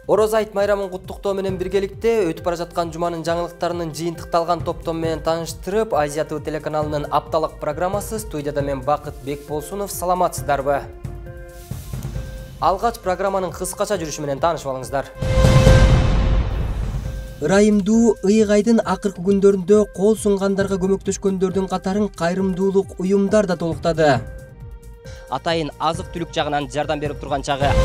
Ороз айт майрамын куттуктоо менен биргеликте өтүп бара жаткан жуманын жаңылыктарынын жыйынтыкталган топтом менен тааныштырып, Азия ТВ телеканалынын апталык программасы. Студияда мен Бакыт Бекболсунов. Саламатсыздарбы? Алгач программанын кыскача жүрүшү менен таанышып алыңыздар. Ырайымдуу ыйык айдын акыркы күндөрүндө кол сунгандарга көмөктөшкөндөрдүн катарын кайрымдуулук уюмдар да толуктады. Атайын азык-түлүк жагынан жардам берип турган чагы.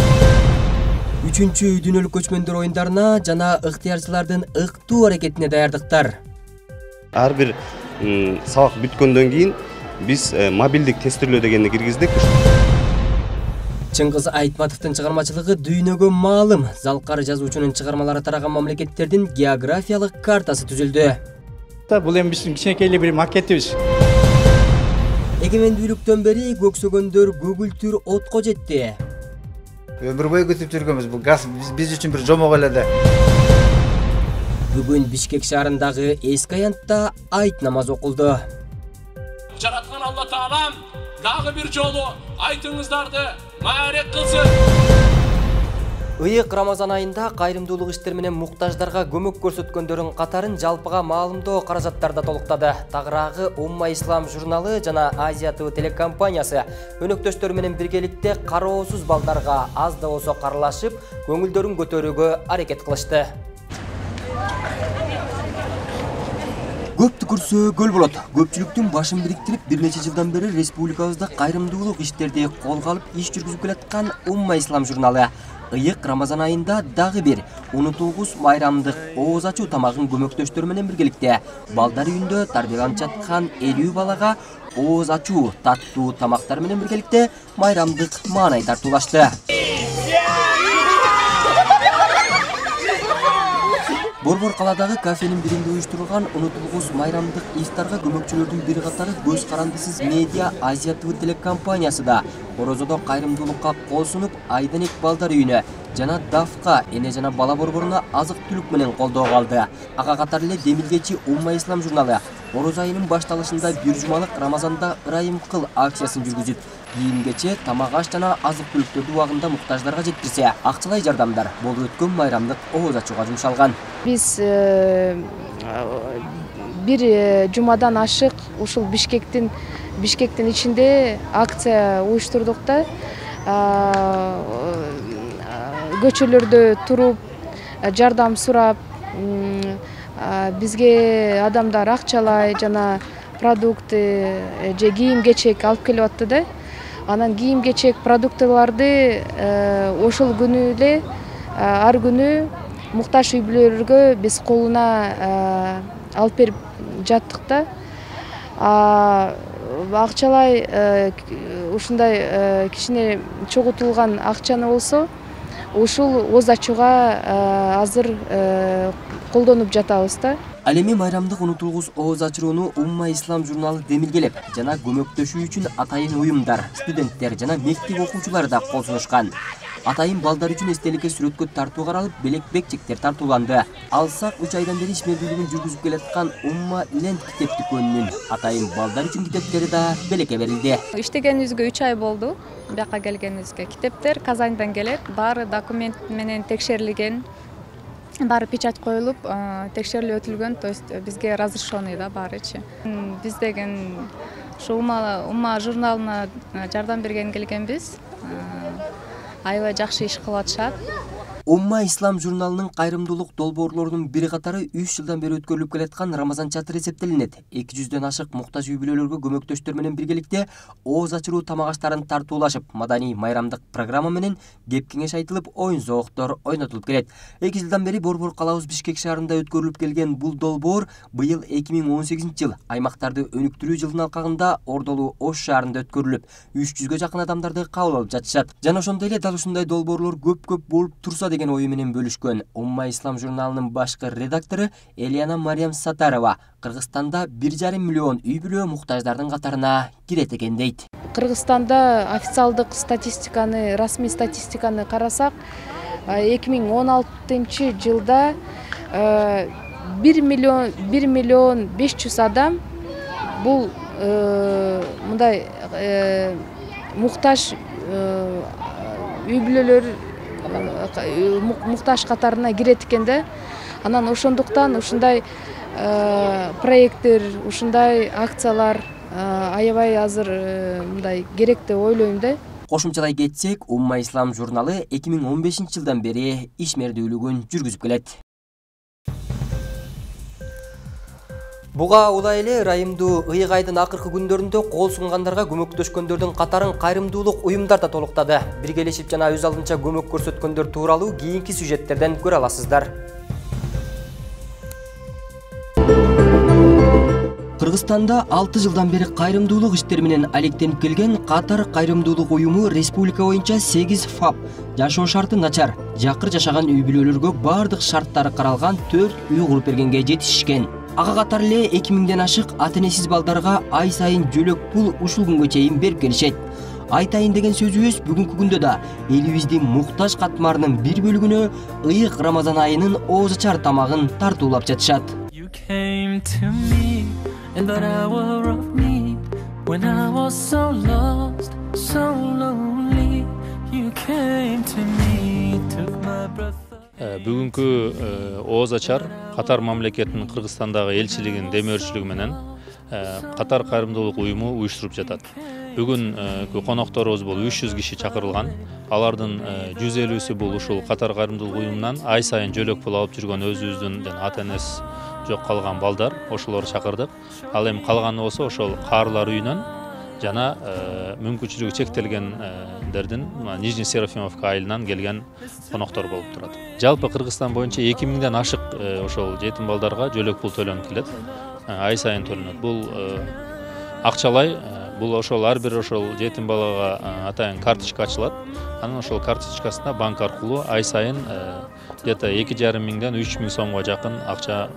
3-чү дүйнөлүк көчмөндөр оюндарына жана ыктыярчылардын ыктуу аракетине даярдыктар. Ар бир сабак бүткөндөн кийин биз мобилдик тестирлөө дегенди киргиздик. Чыңгыз Айтматовдун чыгармачылыгы дүйнөгө маалым. Залкар жазуучунун чыгармалары тараган мамлекеттердин географиялык картасы түзүлдү. Бул эми биздин кичинекей бир макетибиз. Эгемендүүлүктөн бери көксөгөндөр көгүлтүр отко жетти. Өмүр бою күтүп жүргөнбүз. Бул газ биз үчүн бир жомок эле да. Бүгүн Бишкек шаарындагы эски аянтта айт намазы окулду. Жараткан Алла Таалам дагы бир жолу айтыңыздарды маарет кылсын. Ыйык Рамазан айында кайрымдуулук иштер менен муктаждарга көмөк көрсөткөндөрдүн катарын жалпыга маалымдоо каражаттарда толуктады. Тагыраагы Умма Ислам журналы жана Азия ТВ телекомпаниясы өнөктөштөр менен биргеликте кароосуз балдарга аз да болсо каралашып, көңүлдөрүн көтөрүүгө аракет кылышты. Көп түкүрсө көл болот. Көпчүлүктүн башын бириктирип, бир нече жылдан бери республикабызда кайрымдуулук иштерди колго алып иш жүргүзүп келаткан Умма Ислам журналы ыйык Рамазан айында дагы бир унутулгус майрамдык ооз ачуу тамагын көмөктөштөр менен биргеликте балдар үйүндө тарбияланып жаткан 50 балага ооз ачуу таттуу тамактар менен биргеликте майрамдык маанай тартуулашты. Борбор калаадагы кафенин биринде уюштурулган унутулгус майрамдык ифтарга көмөкчүлөрдүн бир катары көз карандысыз медиа Азия ТВ телекомпаниясы да орозодо кайрымдуулукка кол сунуп, Айденек балдар үйүнө жана Дафка эне жана бала борборуна азык-түлүк менен колдоого алды. Ага катары эле демилгечи Умма Ислам журналы ороз айынын башталышында бир жумалык Рамазанда ырайым кыл акциясын жүргүзүп, кийим-кечек, тамак-аш жана азык-түлүктөрдү убагында муктаждарга жеткирсе, акчалай жардамдар болуп өткөн майрамдык ооз ачууга жумшалган. Биз бир жумадан ашык ушул Бишкектин ичинде акция уюштурдук да. Көчөлөрдө туруп, жардам сурап, бизге адамдар акчалай жана продукты же кийим-кечек алып келип атты да. Анан кийим-кечек, продуктыларды ошол күнү эле ар күнү муктаж үй бүлөлөргө биз колуна алып берип жаттык да. Акчалай ушундай кичине чогултулган акчаны болсо ушул ооз ачууга азыр колдонуп жатабыз да. Ал эми майрамдык унутулгус ооз ачууну Умма Ислам журналы демилгелеп жана көмөктөшүү үчүн атайын уюмдар, студенттер жана мектеп окуучулары да кол сунушкан. Атайын балдар үчүн эстеликке сүрөткө тартуу каралып, белек-бекчектер тартууланды. Алсак 3 айдан бери ишмердүүлүгүн жүргүзүп келаткан Умма Ленд китеп дүкөнүнүн атайын балдар үчүн китептери да белекке берилди. Иштегенибизге 3 ай болду. Бияка келгенибизге китептер Казандан келет, баары документ менен текшерилген. Баары печать коюлуп, текшерилип өтүлгөн, то есть бизге разрешенный да баарычы. Биз деген ушу Умма журналына жардам берген келгенбиз. Аябай жакшы иш кылып атышат. Умма Ислам журналынын кайрымдуулук долбоорлорунун бир катары 3 жылдан бери өткөрүлүп келаткан Рамазан чатыры эсептелинет. 200дөн ашык муктаж үй бүлөлөргө көмөктөштөр менен биргеликте ооз ачуу тамак-аштарын тартуулашып, маданий майрамдык программа менен кеп-кеңеш айтылып, оюн-зооктор ойнотулуп келет. 2 жылдан бери борбор калаабыз Бишкек шаарында өткөрүлүп келген бул долбоор быйыл 2018-жыл аймактарды өнүктүрүү жылдын алкагында Ордолуу Ош шаарында өткөрүлүп, 300гө жакын адамдарды кабыл алып жатышат. Жана ошондой эле дал ушундай долбоорлор көп болуп турса деген ою менен бөлүшкөн Умма Ислам журналынын башкы редактору Элияна Мариям Сатарова Кыргызстанда 1,5 миллион үй бүлө муктаждардын катарына кирет экен дейт. Кыргызстанда официалдык статистиканы, расмий статистиканы карасак, 2016-жылда 1 миллион 500 адам бул мындай муктаж үй бүлөлөр муктаж катарына кирет экен да. Анан ошондуктан ушундай проекттер, ушундай акциялар аябай азыр мындай керек деп ойлойм да. Кошумчалай кетсек, Умма Ислам журналы 2015-жылдан бери ишмердүүлүгүн жүргүзүп келет. Буга улай эле райымдуу ыйык айдын акыркы күндөрүндө кол сунгандарга көмөктөшкөндөрдүн катарын кайрымдуулук уюмдар да толуктады. Биргелешип жана өз алдынча көмөк көрсөткөндөр тууралуу кийинки сюжеттерден көрө аласыздар. Кыргызстанда 6 жылдан бери кайрымдуулук иштери менен алектенип келген Катар кайрымдуулук уюму республика боюнча 8 ФАП жашоо шарты начар, жакыр жашаган үй бүлөлөргө бардык шарттары каралган 4 үй куруп бергенге жетишишкен. Ага катар эле 2000ден ашык ата-энесиз балдарга ай сайын жөлөк пул ушул күнгө чейин берип келишет. Айтайын деген сөзүбүз бүгүнкү күндө да элибиздин муктаж катмарынын бир бөлүгүнө ыйык Рамазан айынын оозачар тамагын тартуулап жатышат. In that hour of need, when I was so lost, so lonely, you came to me, took my breath. Бүгүнкү оозачар Катар мамлекетинин Кыргызстандагы элчилигинин демөөрчүлүгү менен Катар кайрымдуулук уюму уюштуруп жатат. Бүгүн конокторубуз бул 300 киши чакырылган. Алардын 150сү бул ушул Катар кайрымдуулук уюмунан ай сайын жөлөк пул алып жүргөн өзүбүздүн ата-энеси жок калган балдар, ошолорду чакырдык. Ал эми калганы болсо ошол каарлар үйүнөн жана мүмкүнчүлүгү чектелгендердин Нижний Серафимовка айылынан келген коноктор болуп турат. Жалпы Кыргызстан боюнча 2000ден ашык ошол жетим балдарга жөлөк пул төлөнүп келет. Ай сайын төлөнөт. Бул акчалай, бул ошол ар бир ошол жетим балага атайын карточка ачылат. Анан ошол карточкасына банк аркылуу ай сайын где-то 2,5 миңден 3 миң сомго жакын акча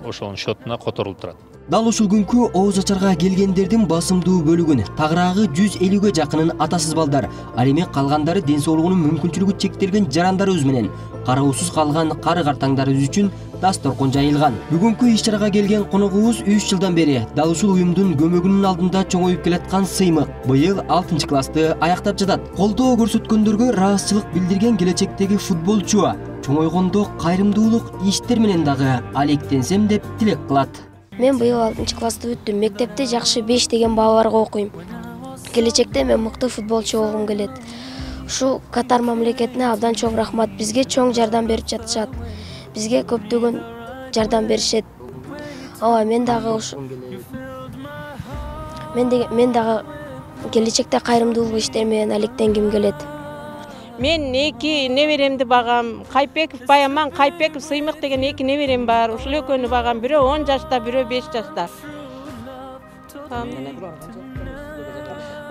ошонун счетуна которулуп турат. Дал ушул күнкү оозачарга келгендердин басымдуу бөлүгүн тагыраагы 150ге жакынын атасыз балдар, ал эми калгандары ден соолугунун мүмкүнчүлүгү чектелген жарандарыбыз менен кароосуз калган кары картаңдарыбыз үчүн дасторкон жайылган. Бүгүнкү иш-чарага келген коногубуз 3 жылдан бери дал ушул уюмдун көмөгүнүн алдында чоңоюп келаткан Сыймык. Быйыл 6-классты аяктап жатат. Колдоо көрсөткөндөргө ыраазычылык билдирген келечектеги футболчу чоңойгондо кайрымдуулук иштер менен дагы алектенсем деп тилек кылат. Мен быйыл 6-классты бүттүм. Мектепте жакшы 5 деген балаларга окуйм. Келечекте мен мыкты футболчу болгум келет. Ушу Катар мамлекетине абдан чоң рахмат. Бизге чоң жардам берип жатышат. Бизге көптөгөн жардам беришет. Ооба, мен дагы келечекте кайрымдуулук иштери менен алектенгим келет. Мен 2 неберемди багам. Кайпеков Баяман, Кайпеков Сыймык деген 2 неберем бар. Ушул экөөнү багам. Бирөө 10 жашта, бирөө 5 жашта.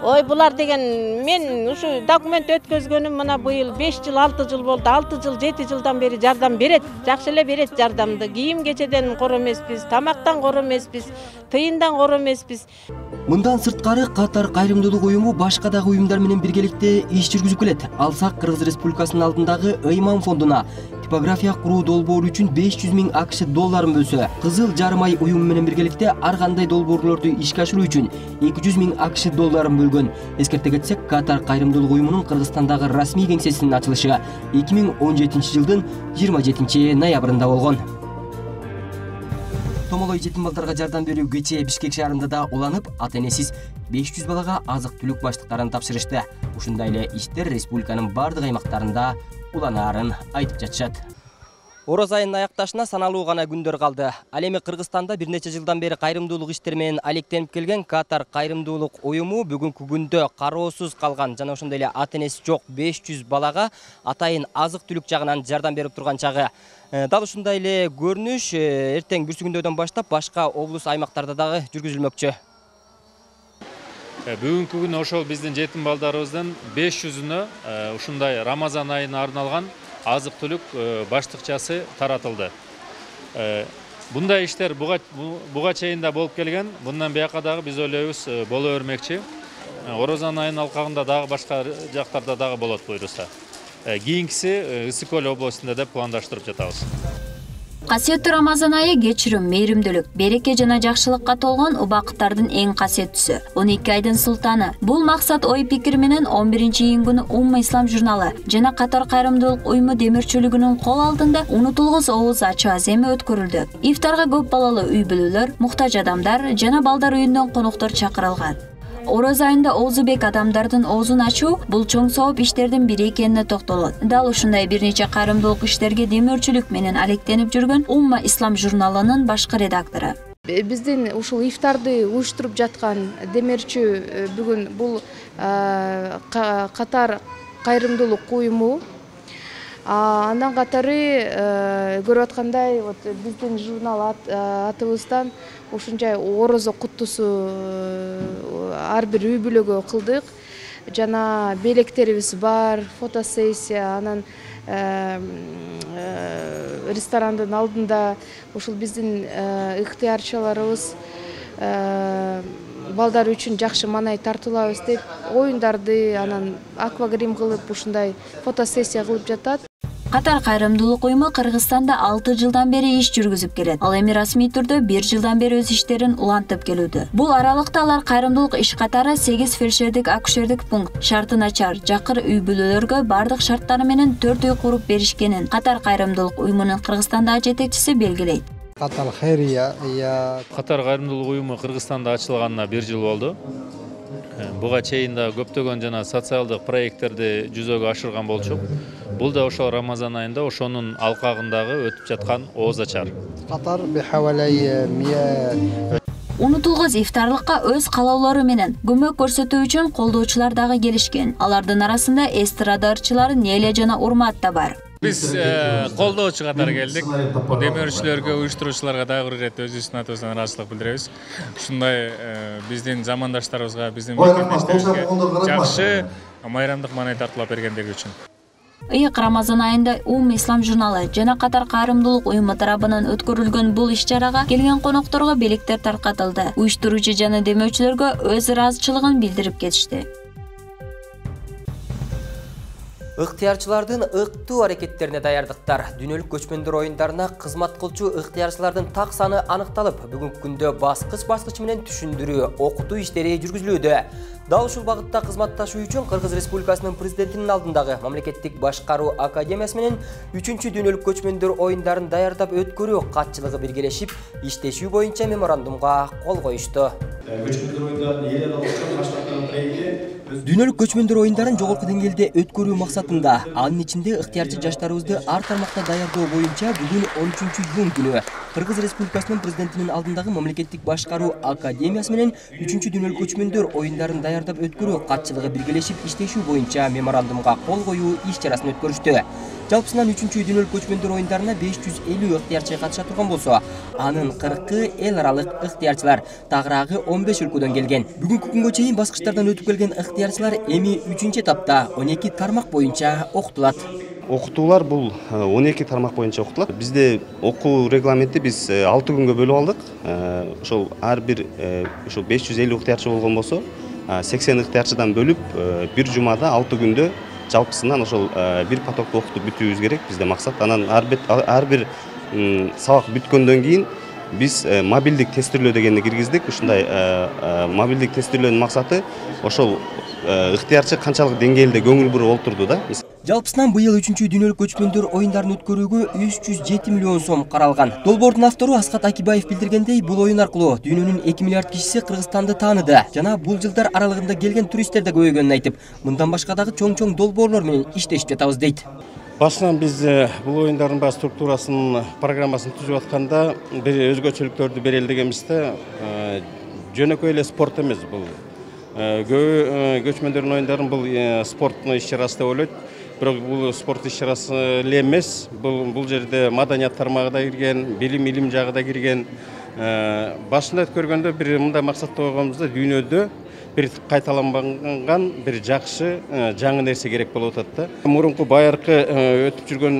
Ой, булар деген мен ушу документ өткөзгөнүм мына быйыл 5 жыл, 6 жыл болду. 6 жыл, 7 жылдан бери жардам берет. Жакшы эле берет жардамды. Кийим кечеден кор эмеспиз, тамактан кор эмеспиз, тыйындан кор эмеспиз. Мындан сырткары Катар кайрымдуулук уюму башка дагы уюмдар менен биргеликте иш жүргүзүп келет. Алсак Кыргыз Республикасынын алдындагы Ыйман фондуна типография куруу долбоору үчүн 500 миң АКШ долларын бөлсө, Кызыл Жарым ай уюму менен биргеликте ар кандай долбоорлорду ишке ашыруу үчүн 200 миң АКШ долларын бөлгөн. Эскерте кетсек, Катар кайрымдуулук уюмунун Кыргызстандагы расмий кеңсесинин ачылышы 2017-жылдын 27 ноябрында болгон. Томолой жетим балдарга жардам берүү кечээ Бишкек шаарында да уланып, ата-энесиз 500 балага азык-түлүк баштыктарын тапшырышты. Ушундай эле иштер республиканын бардык аймактарында уланаарын айтып жатышат. Ороз айынын аякташына саналуу гана күндөр калды. Ал эми Кыргызстанда бир нече жылдан бери кайрымдуулук иштери менен алектенип келген Катар кайрымдуулук уюму бүгүнкү күндө кароосуз калган жана ошондой эле ата-энеси жок 500 балага атайын азык-түлүк жагынан жардам берип турган чагы. Дал ушундай эле көрүнүш эртең бүрсүгүндөөдөн баштап башка облус аймактарда дагы жүргүзүлмөкчү. Бүгүнкү күнү ошол биздин жетим балдарыбыздын 500-үнө ушундай Рамазан айына арналган азык-түлүк баштыкчасы таратылды. Бундай иштер буга чейин да болуп келген. Bundan бияка дагы биз ойлойбуз боло бермекчи. Орозан айынын алкагында дагы башка жактарда дагы болот буйруса. Кийинкиси Ысык Көл областында деп пландаштырып жатабыз. Касиеттүү Рамазан айы кечирим, мээримдүүлүк, береке жана жакшылыкка толгон убакыттардын эң касиеттүүсү, 12 айдын султаны. Бул максат ой пикир менен 11-июнь күнү Умма Ислам журналы жана Катар кайрымдуулук уюму демирчилигинин кол алдында унутулгус ооз ачуу аземи өткөрүлдү. Ифтарга көп балалуу үй бүлөлөр, муктаж адамдар жана балдар үйүнөн коноктор чакырылган. Ороз айында оозу-бек адамдардын оозун ачуу бул чоң сооп иштердин бири экенине токтолот. Дал ушундай бир нече кайрымдуулук иштерге демөөрчүлүк менен алектенип жүргөн Умма Ислам журналынын башкы редактору. Биздин ушул ифтарды уюштуруп жаткан демирчү бүгүн бул Катар кайрымдуулук уюму. Андан катары көрүп аткандай биздин журнал атыбыздан ушунчай орозо куттусу ар бир үй бүлөгө кылдык. Жана белектерибиз бар, фотосессия, анан ресторандын алдында ушул биздин ыктыярчыларыбыз балдар үчүн жакшы маанай тартуулабыз деп оюндарды, анан аквагрим кылып ушундай фотосессия кылып жатат. Катар кайрымдуулук уюму Кыргызстанда 6 жылдан бери иш жүргүзүп келет. Ал эми расмий түрдө 1 жылдан бери өз иштерин улантып келүүдө. Бул аралыкта алар кайрымдуулук иш катары 8 фельдшердик акушердик пункт, шарты начар, жакыр үй бүлөлөргө бардык шарттары менен 4 үй куруп беришкенин Катар кайрымдуулук уюмунун Кыргызстандагы жетекчиси белгилейт. Катар кайрымдуулук уюму Кыргызстанда ачылганына 1 жыл болду. Буга чейин да көптөгөн жана социалдык проекттерди жүзөгө ашырган болчук. Бул да ошол Рамазан айында ошонун алкагындагы өтүп жаткан ооз ачар. Катар бихавалай 100 Унутулгус ифтарлыкка өз каалоолору менен көмөк көрсөтүү үчүн колдоочулар дагы келишкен. Алардын арасында эстрада ырчылары Неля жана Урмат да бар. Биз колдоочу катары келдик. Демөөрчүлөргө, уюштуруучуларга дагы бир ирет өзүбүздүн атыбыздан ыраазычылык билдиребиз. Ушундай биздин замандаштарыбызга, биздин мектептештерибизге жакшы майрамдык маанай тартуулап бергендиги үчүн. Ыйык Рамазан айында Умма Ислам журналы жана Катар кайрымдуулук уюму тарабынан өткөрүлгөн бул иш-чарага келген конокторго белектер таркатылды. Уюштуруучу жана демөөчүлөргө өз ыраазычылыгын билдирип кетишти. Ыктыярчылардын ыктуу аракеттерине даярдыктар. Дүйнөлүк көчмөндөр оюндарына кызмат кылчу ыктыярчылардын так саны аныкталып, бүгүнкү күндө баскыч менен түшүндүрүү, окутуу иштери жүргүзүлүүдө. Дал ушул багытта кызматташуу үчүн Кыргыз Республикасынын президентинин алдындагы Мамлекеттик башкаруу академиясы менен 3-чү дүйнөлүк көчмөндөр оюндарын даярдап өткөрүү катчылыгы биргелешип, иштешүү боюнча меморандумга кол коюшту. Дүйнөлүк көчмөндөр оюндарын жогорку деңгээлде өткөрүү максатында анын ичинде ыктыярчы жаштарыбызды ар тармакта даярдоо боюнча бүгүн 13-июнь күнү Кыргыз Республикасынын президентинин алдындагы Мамлекеттик башкаруу академиясы менен 3-чү дүйнөлүк көчмөндөр оюндарын даярдап өткөрүү катчылыгы биргелешип иштешүү боюнча меморандумга кол коюу иш-чарасын өткөрүштү. Жалпысынан 3-чү дүйнөлүк көчмөндөр оюндарына 550 ыктыярчы катыша турган болсо, анын 40-ы эл аралык ыктыярчылар, тагыраагы 15 өлкөдөн келген. Бүгүнкү күнгө чейин баскычтардан өтүп келген ыктыярчылар эми 3-чү этапта 12 тармак боюнча окутулат. Окутуулар бул 12 тармак боюнча окутулат. Бизде окуу регламенти биз 6 күнгө бөлүп алдык. Ошол ар бир ошол 550 ыктыярчы болгон болсо, 80 ыктыярчыдан бөлүп бир жумада 6 күндө жалпысынан ошол бир потокту окутуп бүтүүбүз керек. Бизде максат. Анан ар бир сабак бүткөндөн кийин биз мобилдик тестирлөө дегенди киргиздик. Ушундай мобилдик тестирлөөнүн максаты ошол ыктыярчы канчалык деңгээлде көңүл буруп олтурду да. Жалпысынан быйыл 3-чү дүйнөлүк көчмөндөр оюндарын өткөрүүгө 307 миллион сом каралган. Долбоордун автору Аскат Акибаев билдиргендей, бул оюн аркылуу дүйнөнүн 2 миллиард кишиси Кыргызстанды тааныды жана бул жылдар аралыгында келген туристтер да көбөйгөнүн айтып, мындан башка дагы чоң долбоорлор менен иштешип жатабыз дейт. Башынан биз бул оюндардын бар структурасын, программасын түзүп атканда бир өзгөчөлүктөрдү берели дегенбизде, жөнөкөй эле спорт эмес бул. Көбү көчмөндөрдүн оюндарын бул спорттун иш-чарасы деп ойлойт. Бирок бул спорт иш-чарасы эле эмес. Бул жерде маданият тармагы да кирген, билим илим жагы да кирген. Башында өткөргөндө бир мындай максатты койгонбуз да, дүйнөдө бир кайталанбаган бир жакшы жаңы нерсе керек болуп атат да. Мурунку байыркы өтүп жүргөн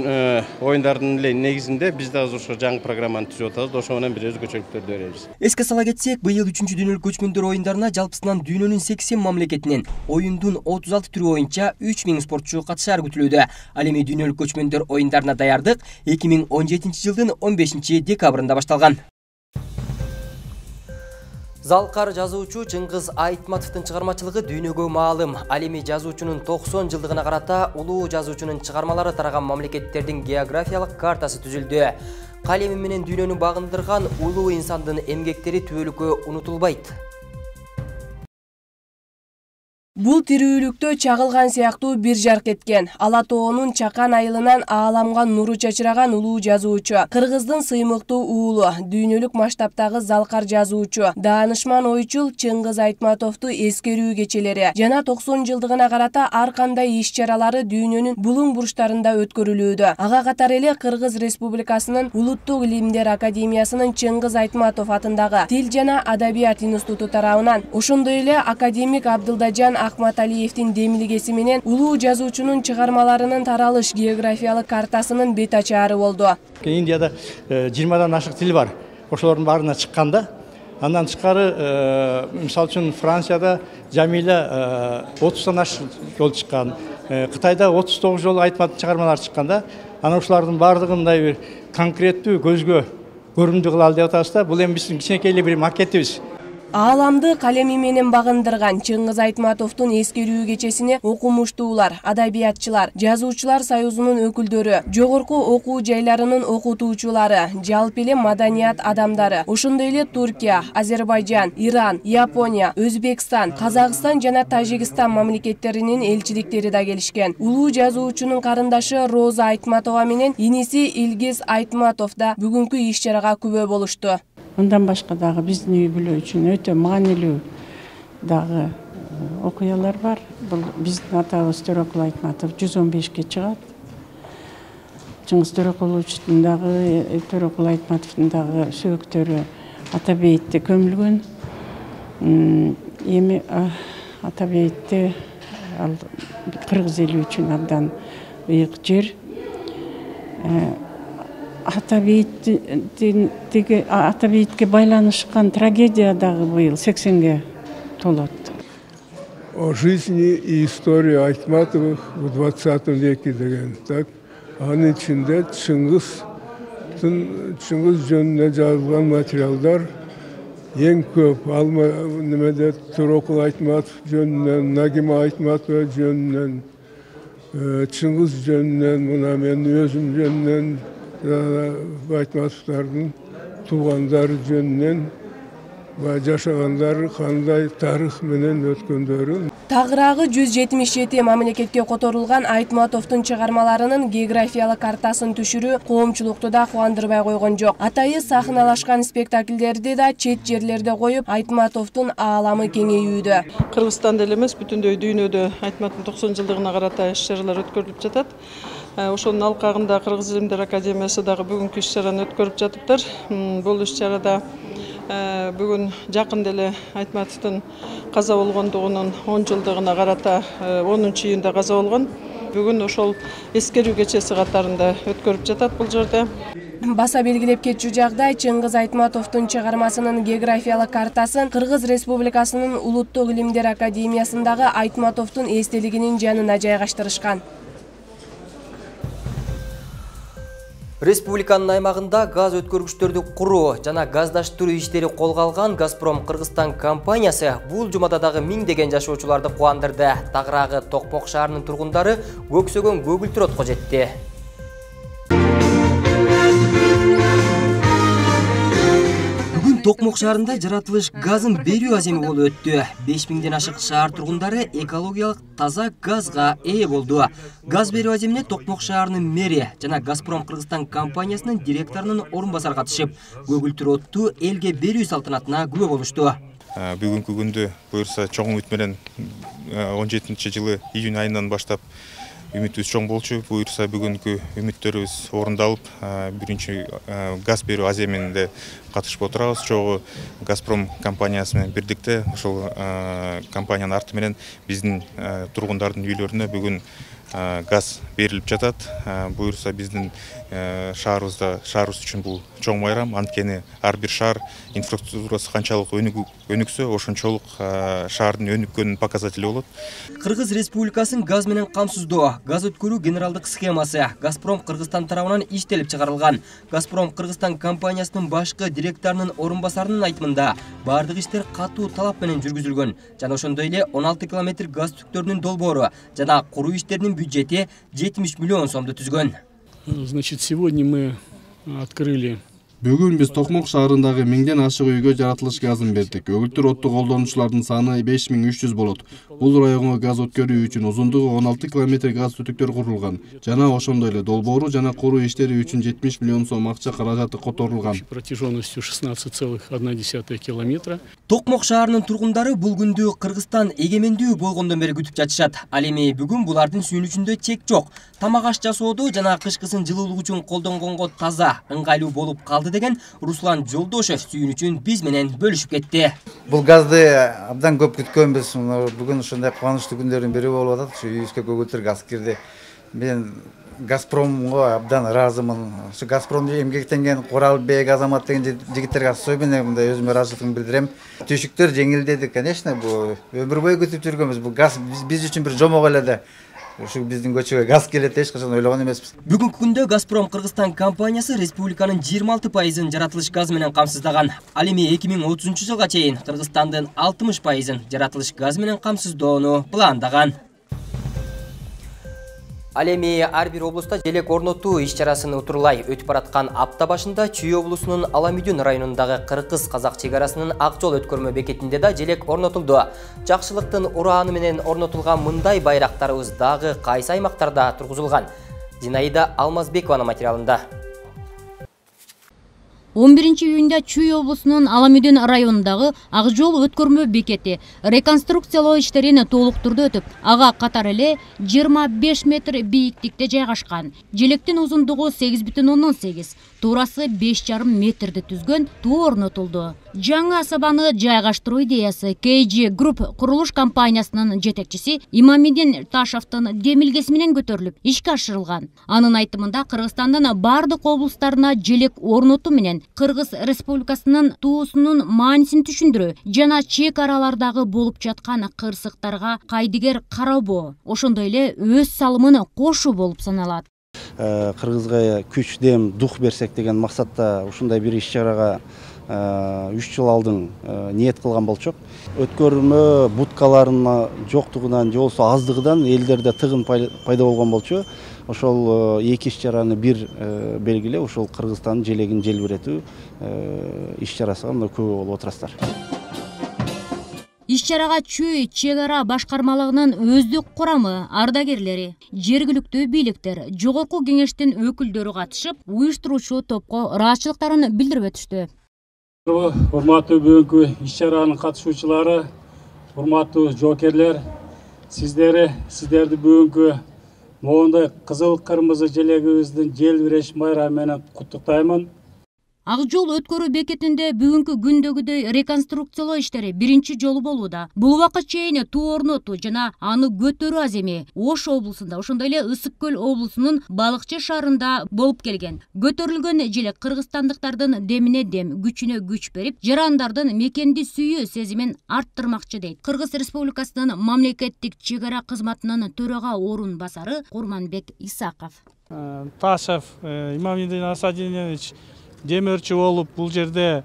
оюндардын эле негизинде биз да азыр ошо жаңы программаны түзүп атабыз. Ошо менен бир өзгөчөлүктөрдү беребиз. Эске сала кетсек, быйыл 3-дүйнөлүк көчмөндөр оюндарына жалпысынан дүйнөнүн 80 мамлекетинен оюндун 36 түрү боюнча 3000 спортчу катышары күтүлүүдө. Ал эми дүйнөлүк көчмөндөр оюндарына даярдык 2017 жылдын 15 декабрында башталган. Залкар жазуучу Чыңгыз Айтматовдун чыгармачылыгы дүйнөгө маалым. Ал эми жазуучунун 90 жылдыгына карата улуу жазуучунун чыгармалары тараган мамлекеттердин географиялык картасы түзүлдү. Калеми менен дүйнөнү багындырган улуу инсандын эмгектери түбөлүккө унутулбайт. Бул тирүүлүктө чагылган сыяктуу бир жарк эткен. Ала тоонун чакан айылынан ааламга нуру чачыраган улуу жазуучу, кыргыздын сыймыктуу уулу, дүйнөлүк масштабтагы залкар жазуучу, даанышман ойчул Чыңгыз Айтматовду эскерүү кечелери жана 90 жылдыгына карата ар кандай иш-чаралары дүйнөнүн булуң бурчтарында өткөрүлүүдө. Ага катары эле Кыргыз Республикасынын Улуттук илимдер академиясынын Чыңгыз Айтматов атындагы Тил жана Адабият институту тарабынан, ошондой эле академик Абдылдажан Ахматалиевдин демилгеси менен улуу жазуучунун чыгармаларынын таралыш географиялык картасынын бет ачаары болду. Индияда 20дан ашык тил бар. Ошолордун баарына чыкканда, андан тышкары мисалы үчүн Францияда Жамиля 30дан ашык жол чыккан. Кытайда 39 жол Айтматовдун чыгармалары чыкканда, анан ушулардын баардыгын мындай бир конкреттүү көзгө көрүндү кылалы деп атабыз да. Бул эми биздин кичинекей эле бир макетибиз. Ааламды калеми менен багындырган Чыңгыз Айтматовдун эскерүү кечесине окумуштуулар, адабиятчылар, жазуучулар союзунун өкүлдөрү, жогорку окуу жайларынын окутуучулары, жалпы эле маданият адамдары, ошондой эле Туркия, Азербайжан, Иран, Япония, Өзбекстан, Казакстан жана Тажикстан мамлекеттеринин элчиликтери да келишкен. Улуу жазуучунун карындашы Роза Айтматова менен иниси Илгиз Айтматов да бүгүнкү иш-чарага күбө болушту. Мындан башка дагы биздин үй бүлө үчүн өтө маанилүү дагы окуялар бар. Бул биздин атабыз Төрөкул Айтматов 115-ке чыгат. Чыңгыз Төрөкуловичтин дагы Төрөкул Айтматовдун дагы сөөктөрү Атабейитте көмүлгөн. Эми Атабейитте ал кыргыз эли үчүн абдан ыйык жер. Атабейтке байланышкан трагедия дагы быйыл 80-ге толот. О жизни и истории Айтматовых в 20 веке деген. Так, анын ичинде Чыңгыз жөнүнө жазылган материалдар эң көп. Ал немеде Төрөкул Айтматов жөнүнөн, Нагима Айтматова жөнүнөн, Чыңгыз жөнүнөн, мына мен өзүм жөнүнөн, Айтматовдардын туугандары жөнүнөн жашагандары кандай тарых менен өткөндөрүн. Тагыраагы 177 мамлекетке которулган Айтматовдун чыгармаларынын географиялык картасын түшүрүү коомчулукту да кубандырбай койгон жок. Атайы сахналашкан спектакльдерди да чет жерлерде коюп, Айтматовдун ааламы кеңейүүдө. Кыргызстанда эле эмес, бүтүндөй дүйнөдө Айтматовдун 90 жылдыгына карата иш-чаралар өткөрүлүп жатат. Ошонун алкагында Кыргыз илимдер академиясы дагы бүгүнкү иш-чараны өткөрүп жатыптыр. Бул иш-чарада бүгүн жакында эле Айтматовдун каза болгондугунун 10 жылдыгына карата 10-июнда каза болгон. Бүгүн ошол эскерүү кечеси катарында өткөрүп жатат бул жерде. Баса белгилеп кетчү жагдай, Чыңгыз Айтматовдун чыгармасынын географиялык картасын Кыргыз Республикасынын Улуттук илимдер академиясындагы Айтматовдун эстелигинин жанына жайгаштырышкан. Республиканын аймагында газ өткөргүчтөрдү куруу жана газдаштыруу иштери колго алган Газпром Кыргызстан компаниясы бул жумада дагы миңдеген жашоочуларды кубандырды. Тагыраагы Токмок шаарынын тургундары көксөгөн көгүлтүр отко жетти. Токмок шаарында жаратылыш газын берүү аземи болуп өттү. 5000ден ашык шаар тургундары экологиялык таза газга ээ болду. Газ берүү аземине Токмок шаарынын мэри жана Газпром Кыргызстан компаниясынын директорунун орун басары катышып, көгүлтүр отту элге берүү салтанатына күбө болушту. Бүгүнкү күндү буюрса чоң үмүт менен 17-жылы июнь айынан баштап үмүтүбүз чоң болчу. Буюрса бүгүнкү үмүттөрүбүз орундалып, биринчи газ берүү аземинде катышып отурабыз. Чогуу Газпром компаниясы менен бирдикте ошол компаниянын арты менен биздин тургундардын үйлөрүнө бүгүн газ берилип жатат. Буюрса биздин шаарыбыз үчүн бул чоң майрам. Анткени ар бир шаар инфраструктурасы канчалык өнүксө, ошончолук шаардын өнүккөнүнүн показатели болот. Кыргыз Республикасынын газ менен камсыздоо, газ өткөрүү генералдык схемасы Газпром Кыргызстан тарабынан иштелип чыгарылган. Газпром Кыргызстан компаниясынын башкы директорунун орун басарынын айтымында бардык иштер катуу талап менен жүргүзүлгөн жана ошондой эле 16 километр газ түктөрүнүн долбоору жана куруу иштеринин бюджети 70 миллион сомду түзгөн. Значит, сегодня мы открыли. Бүгүн биз Токмок шаарындагы 1000ден ашык үйгө жаратылыш газын бердик. Көгүлтүр отту колдонуучулардын саны 5300 болот. Бул районго газ өткөрүү үчүн узундугу 16 километр газ түтүктөр курулган. Жана ошондой эле долбоору жана куруу иштери үчүн 70 миллион сом акча каражаты которулган. Протяженностью 16,1 километра. Токмок шаарынын тургундары бул күндү Кыргызстан эгемендүү болгондон бери күтүп жатышат. Ал эми бүгүн булардын сүйүнүчүндө чек жок. Тамак аш жасоодо жана кышкысын жылуулук үчүн колдонгонго таза, ыңгайлуу болуп калды деген Руслан Жолдошев сүйүнүчүн биз менен бөлүшүп кетти. Бул газды абдан көп күткөнбүз. Бүгүн ушундай кубанычтуу күндөрдүн бири болуп атат. Ушу үйүбүзгө көгүлтүр газ кирди. Мен Газпромго абдан ыраазымын. Ушу Газпромду эмгектенген Куралбек, Азамат деген жигиттерге особенно мындай өзүмө ыраазычылыгымды билдирем. Түйшүктөр жеңилдеди, конечно, бул өмүр бою күтүп жүргөнбүз. Бул газ биз үчүн бир жомок эле да. Ушу биздин көчөгө газ келет эч качан ойлогон эмеспиз. Бүгүнкү күндө Газпром Кыргызстан компаниясы республиканын 26% жаратылыш газы менен камсыздаган. Ал эми 2030-жылга чейин Кыргызстандын 60% жаратылыш газы менен камсыздоону пландаган. Ал эми ар бир облустта желек орнотуу иш-чарасын утурлай өтүп бараткан апта башында Чүй облусунун Аламүдүн районундагы Кыргыз-Казак чек арасынын ак жол өткөрмө бекетинде да желек орнотулду. Жакшылыктын урааны менен орнотулган мындай байрактарыбыз дагы кайсы аймактарда тургузулган? Зинаида Алмазбекованын материалында. 11-июнда Чүй облусунун Аламүдүн районундагы ак жол өткөрмө бекети реконструкциялоо иштерин толуктурду өтүп, ага катар эле 25 метр бийиктикте жайгашкан. Желектин узундугу 8,8, туурасы 5,5 метрди түзгөн туу орнотулду. Жаңы асабаны жайгаштыруу идеясы KG Group курулуш компаниясынын жетекчиси Имамидин Ташевдин демилгеси менен көтөрүлүп, ишке ашырылган. Анын айтымында Кыргызстандын бардык облустарына желек орнотуу менен Кыргыз Республикасынын туусунун маанисин түшүндүрүү жана чек аралардагы болуп жаткан кырсыктарга кайдыгер карабоо, ошондой эле өз салымын кошуу болуп саналат. Кыргызга күч, дем, дух берсек деген максатта ушундай бир иш-чарага 3 жыл алдын ниет кылган болчок. Өткөрмө будкаларынын жоктугунан же болбосо аздыгынан элдерде тыгын пайда болгон болчу. Ошол эки иш-чараны бир белгилеп, ошол Кыргызстандын желегин желбиретүү иш-чарасына мына күбө болуп отурасыздар. Иш-чарага Чүй чек ара башкармалыгынын өздүк курамы, ардагерлери, жергиликтүү бийликтер, жогорку кеңештин өкүлдөрү катышып, уюштуруучу топко ыраазычылыктарын билдирип өтүштү. Урматтуу бүгүнкү иш-чаранын катышуучулары, урматтуу жоокерлер, сиздерди бүгүнкү моундай кызыл кырмызы желегибиздин желбиреш майрамы менен куттуктаймын. Ак жол өткөрүү бекетинде бүгүнкү күндөгүдөй реконструкциялоо иштери биринчи жолу болууда. Бул убакка чейин туу орнотуу жана аны көтөрүү аземи Ош облусунда, ошондой эле Ысык көл облусунун Балыкчы шаарында болуп келген. Көтөрүлгөн желек кыргызстандыктардын демине дем, күчүнө күч берип, жарандардын мекенди сүйүү сезимин арттырмакчы дейт Кыргыз Республикасынын мамлекеттик чек ара кызматынын төрага орун басары Курманбек Исаков. Ташев Имамидин Асадинович демөрчү болуп, бул жерде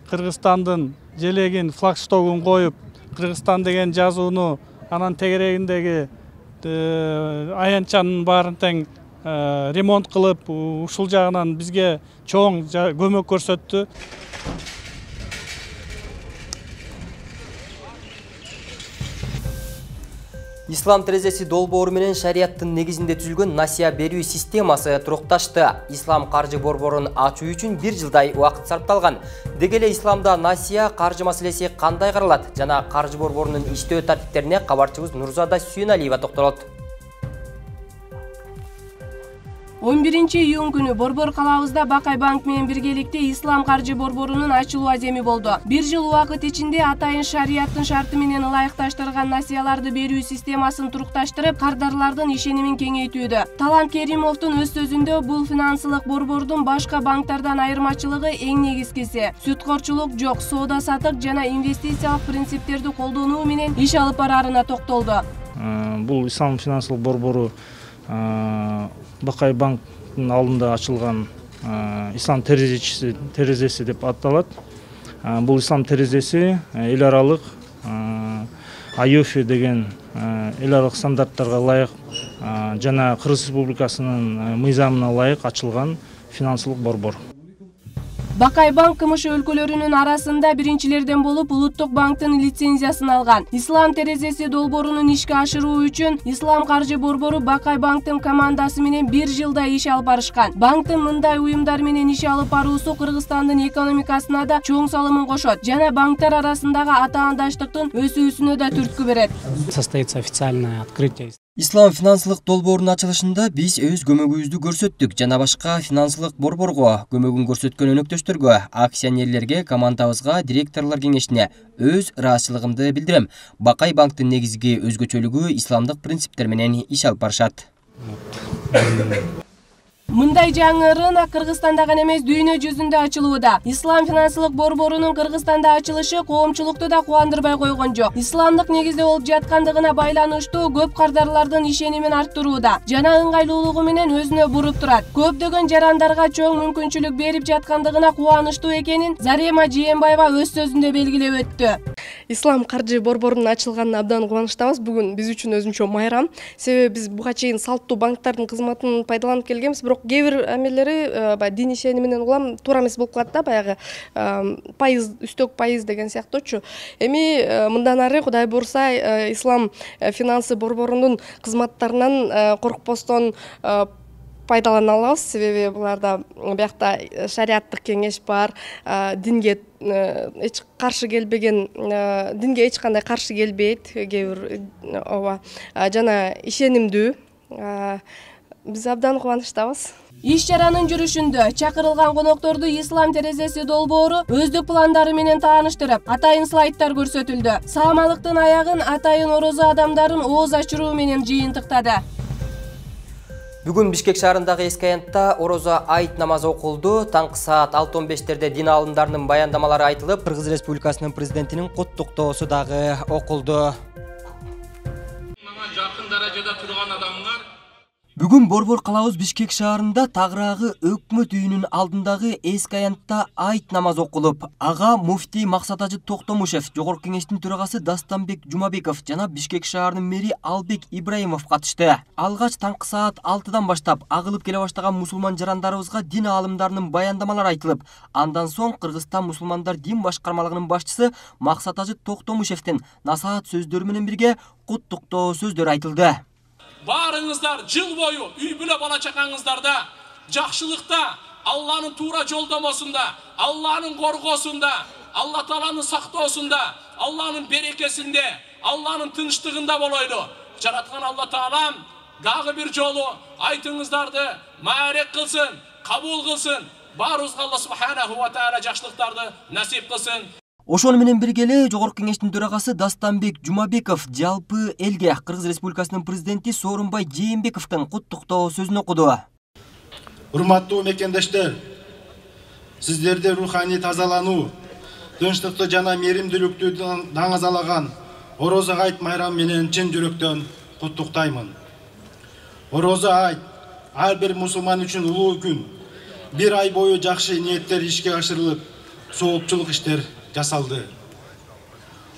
Кыргызстандын желегин, флагштогун коюп, Кыргызстан деген жазууну, анан тегерегиндеги аянтчанын баарын тең ремонт кылып, ушул жагынан бизге чоң көмөк көрсөттү. Ислам терезеси долбоору менен шарияттын негизинде түзүлгөн насия берүү системасы турукташты. Ислам каржы борборун ачуу үчүн 1 жылдай убакыт сарпталган. Деги эле исламда насия каржы маселеси кандай каралат жана каржы борборунун иштөө тартиптерине кабарчыбыз Нурзада Сүйөналиева токтолот. 11-июнь күнү Борбор калабызда Бакай банк менен биргеликте Ислам каржы борборунун ачылуу аземи болду. Бир жыл убакыт ичинде атайын шарияттын шарты менен ылайыкташтырылган насыяларды берүү системасын турукташтырып, кардарлардын ишенимин кеңейтүүдө. Талант Керимовдун өз сөзүндө бул финансылык борбордун башка банктардан айырмачылыгы эң негизгиси сүткорчулук жок, соода-саттык жана инвестициялык принциптерди колдонуу менен иш алып бараарына токтолду. Бул Ислам финансылык борбору Бакай банктын алдында ачылган Ислам терезеси деп аталат. Бул Ислам терезеси эл аралык IOFI деген эл аралык стандарттарга ылайык жана Кыргыз Республикасынын мыйзамына ылайык ачылган финансылык борбор. Бакай банк КМШ өлкөлөрүнүн арасында биринчилерден болуп Улуттук банктын лицензиясын алган. Ислам терезеси долбоорунун ишке ашыруу үчүн Ислам каржы борбору Бакай банктын командасы менен бир жылда иш алып барышкан. Банктын мындай уюмдар менен иш алып баруусу Кыргызстандын экономикасына да чоң салымын кошот жана банктар арасындагы атаандаштыктын өсүүсүнө да түрткү берет. Состоится официальное открытие. Ислам финансылык долбоорунун ачылышында биз өз көмөгүбүздү көрсөттүк жана башка финансылык борборго, көмөгүн көрсөткөн өнөктөштөргө, акционерлерге, командабызга, директорлор кеңешине өз ыраазычылыгымды билдирем. Бакай банктын негизги өзгөчөлүгү исламдык принциптер менен иш алып барышат. Мындай жаңы рынок Кыргызстанда гана эмес, дүйнө жүзүндө ачылууда. Ислам финансылык борборунун Кыргызстанда ачылышы коомчулукту да кубандырбай койгон жок. Исламдык негизде болуп жаткандыгына байланыштуу көп кардарлардын ишенимин арттырууда жана ыңгайлуулугу менен өзүнө буруп турат. Көптөгөн жарандарга чоң мүмкүнчүлүк берип жаткандыгына кубанычтуу экенин Зарема Жээнбаева өз сөзүндө белгилеп өттү. Ислам каржы борборунун ачылганына абдан кубанычтабыз. Бүгүн биз үчүн өзүнчө майрам. Себеби биз буга чейин салттуу банктардын кызматын пайдаланып келгенбиз, бирок кээ бир амелleri баягы дин ишени менен улам туура эмес болуп калат да, баягы пайыз, үстөк пайыз деген сыяктуучу. Эми мындан ары Кудай буурса Ислам финансы борборунун кызматтарынан коркпостон пайдалана алабыз. Себеби буларда биякта шариаттык кеңеш бар, динге эч каршы келбеген, динге эч кандай каршы келбейт, кээ бир ооба жана ишенимдүү. Биз абдан кубанычтабыз. Иш чаранын жүрүшүндө чакырылган конокторду Ислам терезеси долбоору өздүк пландары менен тааныштырып, атайын слайдтар көрсөтүлдү. Саамалыктын аягын атайын орозо адамдарын ооз ачыруу менен жыйынтыктады. Бүгүн Бишкек шаарындагы эски аянтта орозо айт намазы окулду. Таңкы саат 6:15 дин алымдарынын баяндамалары айтылып, Кыргыз Республикасынын президентинин куттуктоосу дагы окулду. Жакын даражада турган адамдар Бүгүн Борбор калабыз Бишкек шаарында тагыраагы өкмөт үйүнүн алдындагы эски аянтта айт намаз окулуп, ага муфтий Максат Ажы Токтомушев, Жогорку кеңештин төрагасы Дастанбек Жумабеков жана Бишкек шаарынын мэри Албек Ибраимов катышты. Алгач таңкы саат 6-дан баштап агылып келе баштаган мусулман жарандарыбызга дин аалымдарынын баяндамалары айтылып, андан соң Кыргызстан мусулмандар дин башкармалыгынын башчысы Максат Ажы Токтомушевдин насаат сөздөрү менен бирге куттуктоо сөздөр айтылды. Барыңыздар жыл бою үй бүлө бала чакаңыздарда жакшылыкта, Алланын туура жолдомосунда, Алланын коргоосунда, Алла Тааланын сактоосунда, Алланын берекесинде, Алланын тынчтыгында болойлу. Жараткан Алла Таалам дагы бир жолу айтыңыздарды маарек кылсын, кабыл кылсын. Баарыбызга Алла Субханаху ва Таала жакшылыктарды насип кылсын. Ошону менен бирге эле Жогорку кеңештин төрагасы Дастанбек Жумабеков жалпы элге Кыргыз Республикасынын президенти Сооронбай Жээнбековдун куттуктоо сөзүн окуду. Урматтуу мекендештер, сиздерди руханий тазалануу, тынчтыкты жана мээримдүүлүктү даңазалаган Орозо айт майрам менен чын жүрөктөн куттуктаймын. Орозо айт ар бир мусулман үчүн улуу күн. Бир ай бою жакшы ниеттер ишке ашырылып, соопчулук иштер жасалды.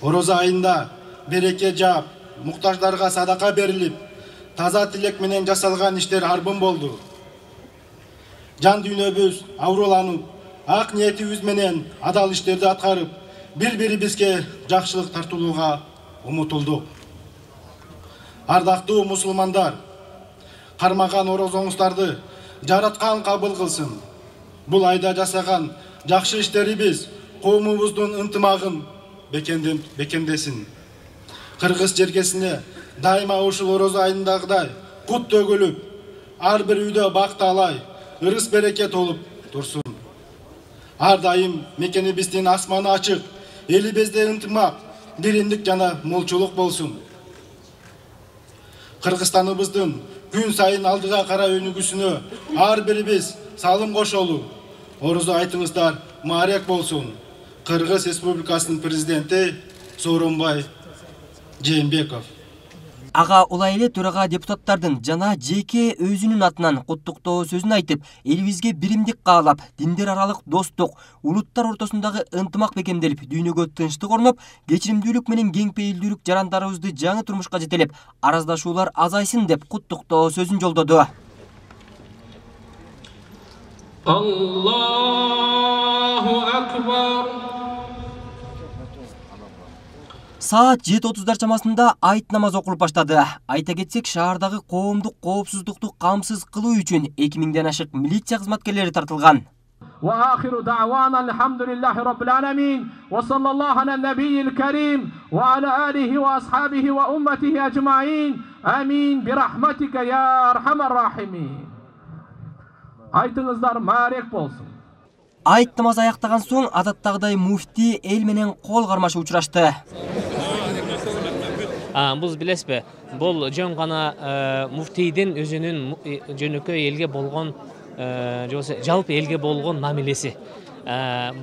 Орозо айында береке жаап, муктаждарга садака берилип, таза тилек менен жасалган иштер арбын болду. Жан дүйнөбүз ауруланып, ак ниетибиз менен адал иштерди аткарып, бири-бирибизге жакшылык тартуулууга умутулдук. Ардактуу мусулмандар, кармаган орозоңуздарды жараткан кабыл кылсын. Бул айда жасаган жакшы иштерибиз коомубуздун ынтымагын бекемдесин. Кыргыз жергесине дайыма ушул орозо айындагыдай кут төгүлүп, ар бир үйдө бакталай, ырыс береке толуп турсун. Ар дайым мекенибиздин асманы ачык, элибизде ынтымак, биримдик жана молчулук болсун. Кыргызстаныбыздын күн сайын алдыга карай өнүгүүсүнө ар бирибиз салым кошолу. Орозо айтыңыздар маарек болсун. Кыргыз Республикасынын президенти Сооронбай Жээнбеков. Ага улай эле төрага депутаттардын жана жеке өзүнүн атынан куттуктоо сөзүн айтып, элибизге биримдик каалап, диндер аралык достук, улуттар ортосундагы ынтымак бекемделип, дүйнөгө тынчтык орноп, кечиримдүүлүк менен кең пейилдүүлүк жарандарыбызды жаңы турмушка жетелеп, араздашуулар азайсын деп куттуктоо сөзүн жолдоду. Аллаху акбар. Саат 7:30 чамасында айт намазы окулуп баштады. Айта кетсек, шаардагы коомдук коопсуздукту камсыз кылуу үчүн 2000ден ашык милиция кызматкерлери тартылган. وآخر دعوانا الحمد لله رب العالمين وصلى الله على النبي الكريم وعلى آله وأصحابه وأمته أجمعين آمين برحمتك يا أرحم الراحمين. Айтыңыздар маарек болсун. Айт намазы аяктаган соң адаттагыдай муфти эл менен кол кармашып учурашты. Бул билесизби, бул жөн гана муфтийдин өзүнүн жөнөкөй элге болгон жалпы элге болгон мамилеси.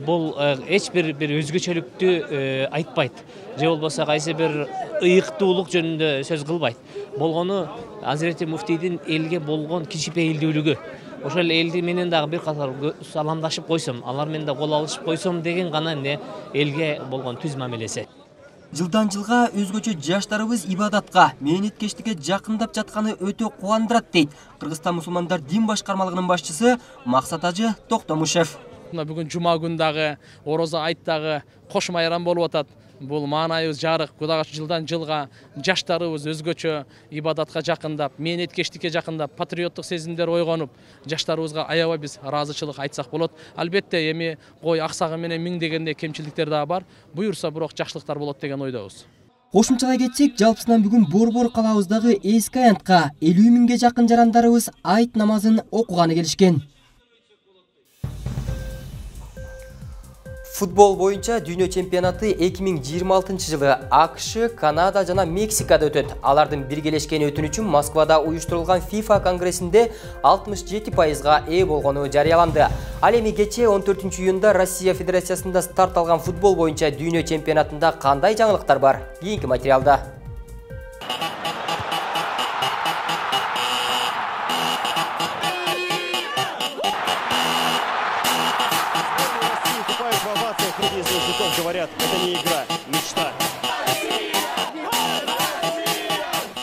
Бул эч бир өзгөчөлүктү айтпайт. Же болбосо кайсы бир ыйыктуулук жөнүндө сөз кылбайт. Болгону Азирети муфтийдин элге болгон кичипейилдүүлүгү. Ошол элди менен дагы бир катар саламдашып койсом, алар менен да кол алышып койсом деген гана элге болгон түз мамилеси. Жылдан жылга өзгөчө жаштарыбыз ибадатка, мээнеткечтикке жакындап жатканы өтө кубандырат дейт Кыргызстан мусулмандар дин башкармалыгынын башчысы Максат Ажы Токтомушев. Бүгүн жума күндагы орозо айттагы кош майрам болуп атат. Бул маанайыбыз жарык. Кудайга жылдан жылга жаштарыбыз өзгөчө ибадатка жакындап, мээнеткечтикке жакындап, патриоттук сезимдер ойгонуп, жаштарыбызга аябай биз ыраазычылык айтсак болот. Албетте эми кой аксагы менен миң дегенде кемчиликтер дагы бар. Буюрса бирок жакшылыктар болот деген ойдобуз. Кошумчалай кетсек, жалпысынан бүгүн Борбор калабыздагы эски аянтка 50 миңге жакын жарандарыбыз айт намазын окуганы келишкен. Футбол боюнча дүйнө чемпионаты 2026 жылы АКШ, Канада жана Мексикада өтөт. Алардын биргелешкен өтүнүчү Москвада уюштурулган FIFA конгрессинде 67%га ээ болгону жарыяланды. Ал эми кечээ 14 июнда Россия Федерациясында старт алган футбол боюнча дүйнө чемпионатында кандай жаңылыктар бар? Кийинки материалда. Говорят, это не игра, мечта.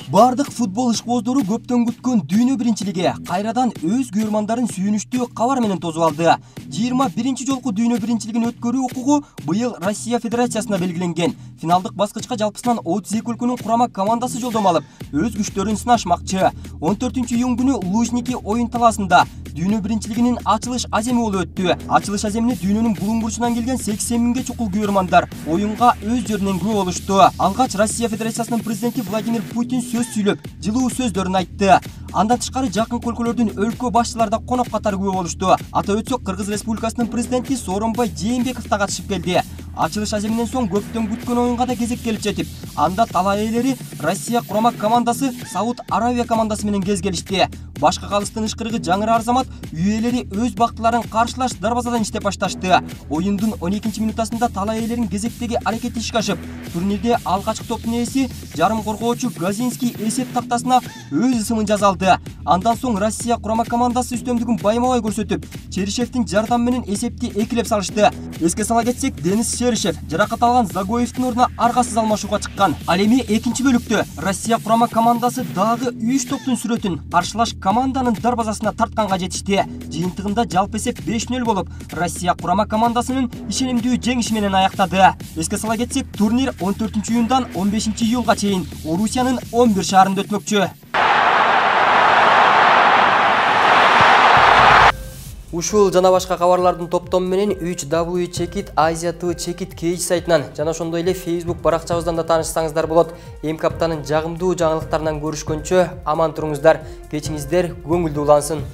Бардык футбол ишкоздору көптөн күткөн дүйнө биринчилиги кайрадан өз көрмандарын сүйүнүчтүү кабар менен тосуп алды. 21 жолку дүйнө биринчилигин өткөрүү укугу быйыл Россия Федерациясына белгиленген. Финалдык баскычка жалпысынан 32 өлкөнүн курама командасы жолдомо алып, өз күчтөрүн сынашмакчы. 14 июнь күнү Лужники оюн талаасында дүйнө биринчилигинин ачылыш аземи болуп өттү. Ачылыш аземине дүйнөнүн булуң бурчунан келген 80 миңге чукул көрмандар оюнга өз жеринен күбө болушту. Алгач Россия Федерациясынын президенти Владимир Путин сөз сүйлөп, жылуу сөздөрүн айтты. Андан тышкары жакын өлкөлөрдүн өлкө башчылары да конок катары күбө болушту. Атап өтсөк, Кыргыз Республикасынын президенти Сооронбай Жээнбеков да катышып келди. Ачылыш аземинен соң көптөн күткөн оюнга да кезек келип жетип, анда талай ээлери Россия курама командасы Сауд Аравия командасы менен кезгелишти. Башка калыстын ышкырыгы жаңыраар замат үй ээлери өз бактыларын каршылаш дарбазадан иштеп башташты. Оюндун 12-минутасында талай ээлерин кезектеги аракети ишке ашып, турнирде алгачкы топтун ээси жарым коргоочу Газинский эсеп тактасына өз ысымын жаза алды. Андан соң Россия курама командасы үстөмдүгүн байма-бай көрсөтүп, Черишевдин жардамы менен эсепти экилеп салышты. Эске сала кетсек, Денис Черишев жаракат алган Загоевдин ордуна аргасыз алмашууга чыккан. Ал эми экинчи бөлүктө Россия курама командасы дагы 3 топтун сүрөтүн каршылаш команданын дарбазасына тартканга жетишти. Жыйынтыгында жалпы эсеп 5-0 болуп, Россия курама командасынын ишенимдүү жеңиши менен аяктады. Эске сала кетсек, турнир 14 июндан 15 июлга чейин Орусиянын 11 шаарында өтмөкчү. Ушул жана башка кабарлардын топтому менен 3W Check It Asia Check It Cage сайтынан жана ошондой эле Facebook баракчабыздан да таанышсаңыздар болот. Эмки аптанын жагымдуу жаңылыктарынан көрүшкөнчө аман туруңуздар. Кечиңиздер көңүлдүү улансын.